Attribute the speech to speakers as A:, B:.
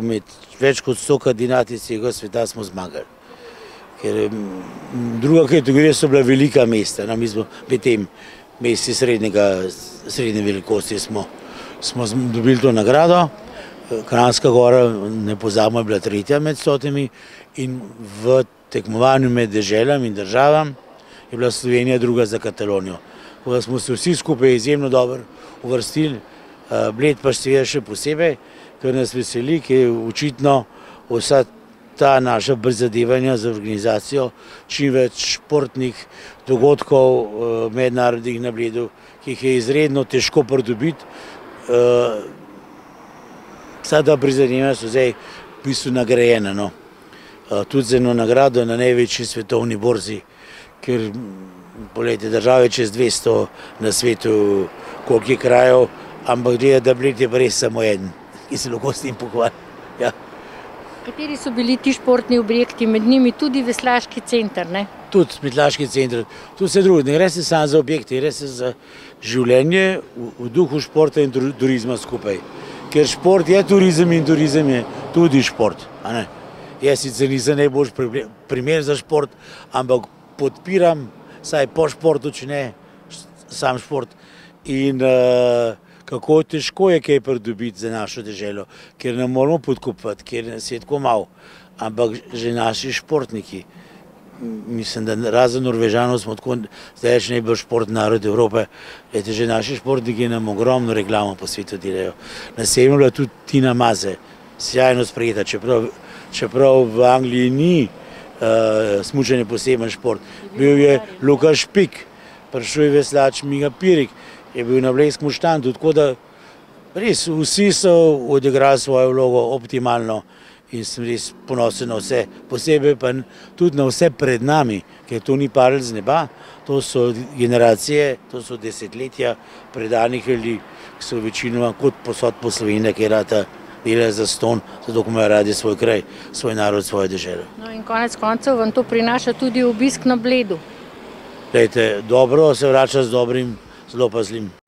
A: Med več kot 100 kandidati iz celega sveta smo zmagali. Ker druga kategorija so bila velika mesta. Mi smo med tem mesti srednje velikosti smo dobili to nagrado. Kranjska Gora, ne pozabimo, je bila tretja med 100 in v tekmovanju med deželami in državami je bila Slovenija druga za Katalonijo. Tako da smo se vsi skupaj izjemno dobro uvrstili, Bled pa seveda še posebej, ker nas veseli, ker je očitno vsa ta naša prizadevanja za organizacijo čim več športnih dogodkov mednarodnih na Bledu, ki jih je izredno težko pridobiti. Vsa ta prizadevanja so zdaj v bistvu nagrajena. Tudi z eno nagrado na največji svetovni borzi, ker poglejte, države čez 200 na svetu, koliko je krajev, ampak gleda, da Bled je pa res samo eden, ki se lahko s tem pohvali.
B: Kateri so bili ti športni objekti, med njimi tudi veslaški center, ne?
A: Tudi veslaški center, tudi vse drugo. Ne gre se samo za objekte, gre se za življenje v duhu športa in turizma skupaj. Ker šport je turizem in turizem je tudi šport. Jaz sicer nisem najboljši primer za šport, ampak podpiram, saj po športu, če ne sam šport. In kako težko je kaj pridobiti za našo deželo, ker ne moramo podkupati, ker nas je tako malo. Ampak že naši športniki, mislim, da razen Norvežanov smo tako zdaj najbolj športni narod Evrope, že naši športniki nam ogromno reklamo po svetu delajo. Na severnu je bila tudi Tina Maze, sjajno sprejeta, čeprav v Angliji ni smučanje poseben šport. Bil je Luka Špik, prišel je veslač Miha Pirik, je bil na blejskem štandu, tako da res vsi so odigrali svojo vlogo optimalno in sem res ponosen na vse, posebej pa tudi na vse pred nami, ker to ni padlo z neba, to so generacije, to so desetletja predanih ljudi, ki so večinoma kot posod po Sloveniji, ki rata delajo zastonj, zato ko imajo radi svoj kraj, svoj narod, svojo deželo.
B: No in konec koncev vam to prinaša tudi obisk na Bledu.
A: Glejte, dobro se vrača z dobrim, zelo pa zlim.